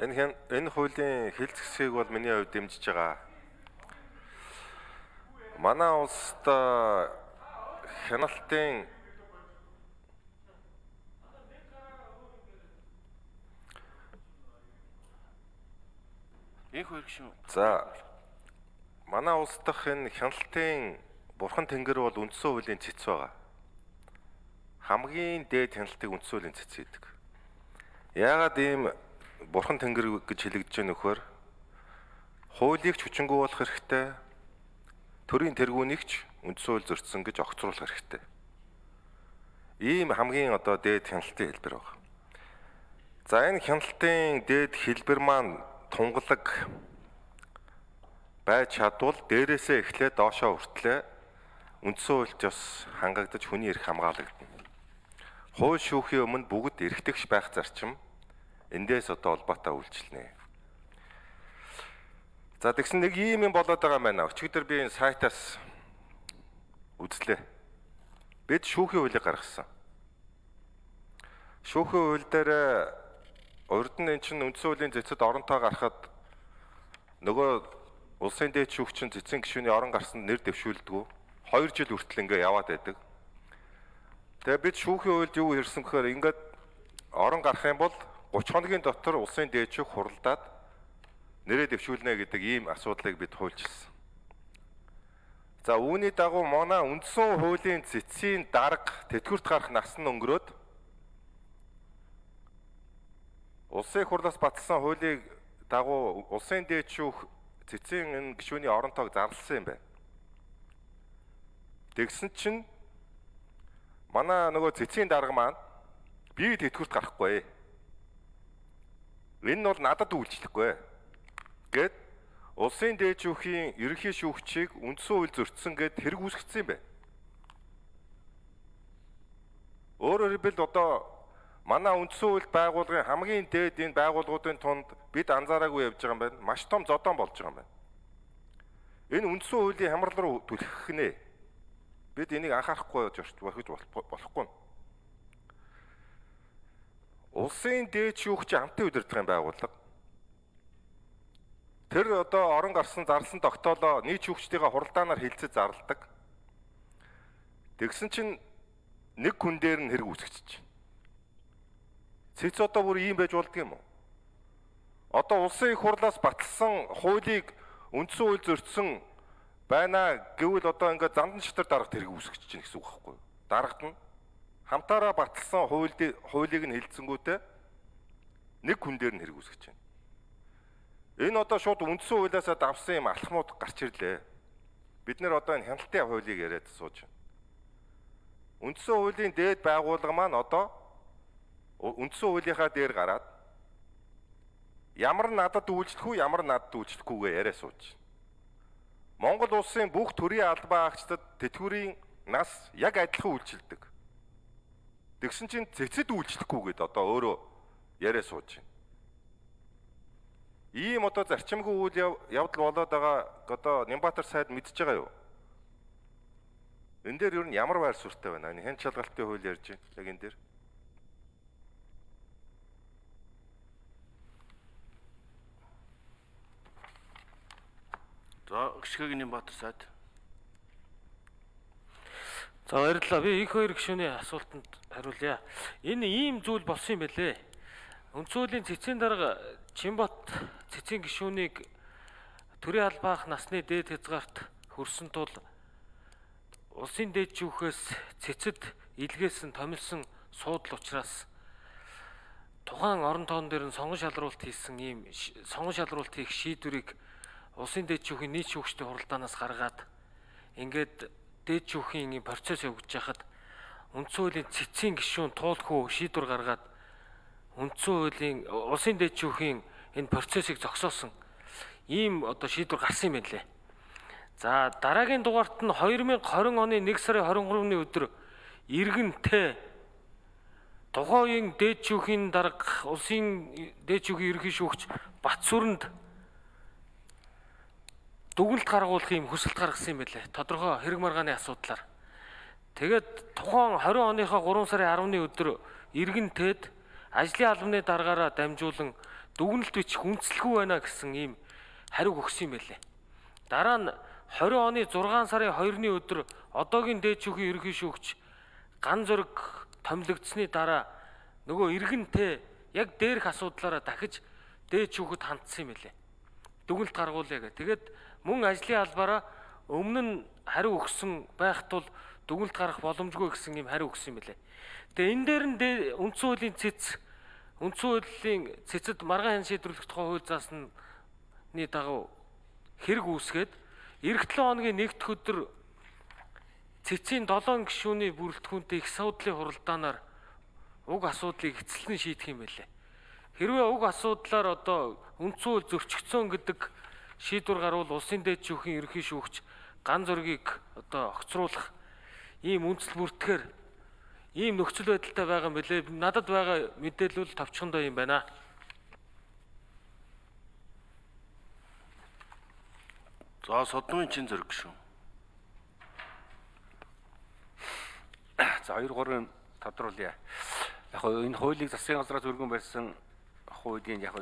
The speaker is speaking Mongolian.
Энэ хуулийн хил зэвсгийг бол миний хувьд дэмжиж байгаа. Манай улсад хяналтын За манай улс дахь энэ хяналтын бурхан тэнгэр бол үндсэн хуулийн цэц байгаа. Хамгийн дээд хяналтыг үндсэн хуулийн цэц гэдэг. Яагаад ийм бурхан тэнгэр гэж хэлэгдэж байгаа нөхөр хуулийг ч хүчингүй болох хэрэгтэй. Төрийн тэргүүнийг ч үндсэн хууль зөрчсөн гэж огцруулах хэрэгтэй. Ийм хамгийн дээд хяналтын хэлбэр байна. За энэ хяналтын дээд хэлбэр маань тунгалаг байж чадвал дээрээсээ эхлээд доошоо хүртлээ үндсэн хуульд бас хангагдаж хүний эрх хамгаалагдана. Хууль шүүхийн өмнө бүгд эрхтэгч байх зарчим эндээс холбоотой үйлчлэнэ. За тэгсэн нэг ийм юм болоод байгаа юм байна. Өчигдөр би энэ сайтаас үзлээ. Бид шүүхийн хуулийг гаргасан. Шүүхийн хууль дээр урд нь эн чинь үндсэн хуулийн цэцэд оронтой гарахад нөгөө улсын дээд шүүгч нь цэцэн гишүүний орон гарсанд нэр дэвшүүлдэг. 2 жил хүртэл ингээ яваад байдаг. Тэгээ бид шүүхийн хуульд юу ирсэн гэхээр ингээд орон гарах юм бол 30 хоногийн дотор улсын дээд шүүх хуралдаад нэрээ дэвшүүлнэ гэдэг ийм асуудлыг бид хуульчилсан. За үүний дагуу манай үндсэн хуулийн цэцгийн дарга тэтгэврт гарах нас нь өнгөрөөд улсын хурлаас батлсан хуулийг дагуу улсын дээд шүүх цэцгийн энэ гишүүний оронтойг зарласан юм байна. Тэгсэн чинь манай нөгөө цэцгийн дарга маань би тэтгэврт гарахгүй. Энэ нь бол надад үйлчлэхгүй гэд улсын дээд шүүхийн ерөнхий шүүгчийг үндсэн хууль зөрчсөн гэд хэрэг үүсгэсэн юм байна. Өөрөөр хэлбэл манай үндсэн хууль байгууллагын хамгийн дээд энэ байгууллагуудын тунд бид анзаараагүй явж байгаа юм байна. Маш том зодон болж байгаа юм байна. Энэ үндсэн хуулийн хямрал руу түлхэх нэ. Бид энийг анхаарахгүй болохгүй. Улсын дээд шүүгч амтны удирдлагын байгууллага. Тэр орон гарсан зарласан тогтоолоо нийт шүүгчдийн хуралдаанаар хилцэж зарладаг. Тэгсэн чинь нэг хүн дээр нь хэрэг үүсгэж чинь. Цэц бүр ийм байж болдго юм уу? Улсын их хурлаас батлсан хуулийг үндсэн хууль зөрчсөн байна гэвэл ингээд зандан шатар дарагт хэрэг үүсгэж чинь гэсэн үг байхгүй юу? Дарагт нь хамтаараа батлсан хуулийг нь хэлцэнгүүтээ нэг хүн дээр нь хэрэг үүсгэж байна. Энэ шууд үндсэн хуулиасаа давсан юм алхмууд гарч ирлээ. Бид нэр энэ хяналтын хуулийг яриад сууж байна. Үндсэн хуулийн дээд байгууллага маань үндсэн хуулийнхаа дээр гараад ямар надад үйлчлэх үү, ямар надад үйлчлэхгүйгээ яриа сууж. Монгол улсын бүх төрийн албан агчдад тэтгэврийн нас яг адилхан үйлчилдэг. Тэгсэн чинь цэцэд үйлчлэхгүйгээд өөрөө яриа сууж байна. Ийм зарчимгүй үйл явдал болоод байгаа Нямбатар сайд мэдж байгаа юу? Энэ дээр ер нь ямар байр суурьтай байна? Энэ хэн шалгалтын хууль ярьж байна яг энэ дээр. За гიშгэгийн Нямбатар сайд. За баярлалаа. Би их хоёр гишүүний асуултанд хариулъя. Энэ ийм зүйл болсон юм байлээ. Үндсэн хуулийн цэцгийн дарга Чимбат цэцгийн гишүүнийг төрийн албаах насны дээд хязгаарт хүрсэн тул улсын дээд шүүхээс цэцэд илгээсэн томилсон суудал учраас тухайн орон тоон дээр нь сонгон шалруулалт хийх шийдвэрийг улсын дээд шүүхийн нийт шүүгчдийн хуралдаанаас гаргаад ингээд дээд шүүхийн процесс явагдаж байхад үндсэн хуулийн цэцгийн гишүүн туулахгүй шийдвэр гаргаад үндсэн хуулийн улсын дээд шүүхийн энэ процессыг зогсоосон ийм шийдвэр гарсан юм байна лээ. За дараагийн дугаарт нь 2020 оны 1 сарын 23-ны өдөр иргэнтэй тухайн үеийн дээд шүүхийн дарга улсын дээд шүүхийн ерөнхий шүүгч Батсүрэнд дүгнэлт гаргуулах юм хүсэлт гаргасан юм байлээ. Тодорхой хэрэг маргааны асуудлаар. Тэгээд тухайн 20 оныхоо 3 сарын 10-ны өдөр иргэнтэд ажлын албаны даргаараа дамжуулан дүгнэлт бичих үндэслэхгүй байна гэсэн ийм хариу өгсөн юм байлээ. Дараа нь 20 оны 6 сарын 2-ны өдөр одоогийн дээд шүүхийн ерөнхий шүүгч ган зөрөг томилогдсны дараа нөгөө иргэнтэй яг дээрх асуудлаараа дахиж дээд шүүхэд хандсан юм байлээ. Дүгнэлт гаргуулъя гэх. Тэгээд мөн ажлын албаараа өмнө нь хариу өгсөн байх тул дүгнэлт гарах боломжгүй гэсэн юм хариу өгсөн юм байлээ. Тэгээ энэ дээр нь үндсэн хуулийн цэцэд маргаан хэн шийдвэрлэх тухай хууль заасны дагуу хэрэг үүсгээд эх 7 хоногийн нэгдүгээр өдөр цэцгийн 7 гишүүний бүрэлдэхүүнтэй их суудлын хуралдаанаар уг асуудлыг эцэслэн шийдэх юм байлээ. Хэрвээ уг асуудлаар одоо үндсэн хууль зөрчигдсөн гэдэг шийдвэр гарвал улсын дээд шүүхийн ерөнхий шүүгч ган зөргийг одоо огцруулах ийм үндэслэл бүртгэхээр ийм нөхцөл байдалтай байгаа юм билээ. Надад байгаа мэдээлэл товчхондоо юм байна. За содны чин зэрэг шүү. За 2-3 тодруулъя. Яг энэ хуулийг засгийн газраас өргөн барьсан хуулийн яг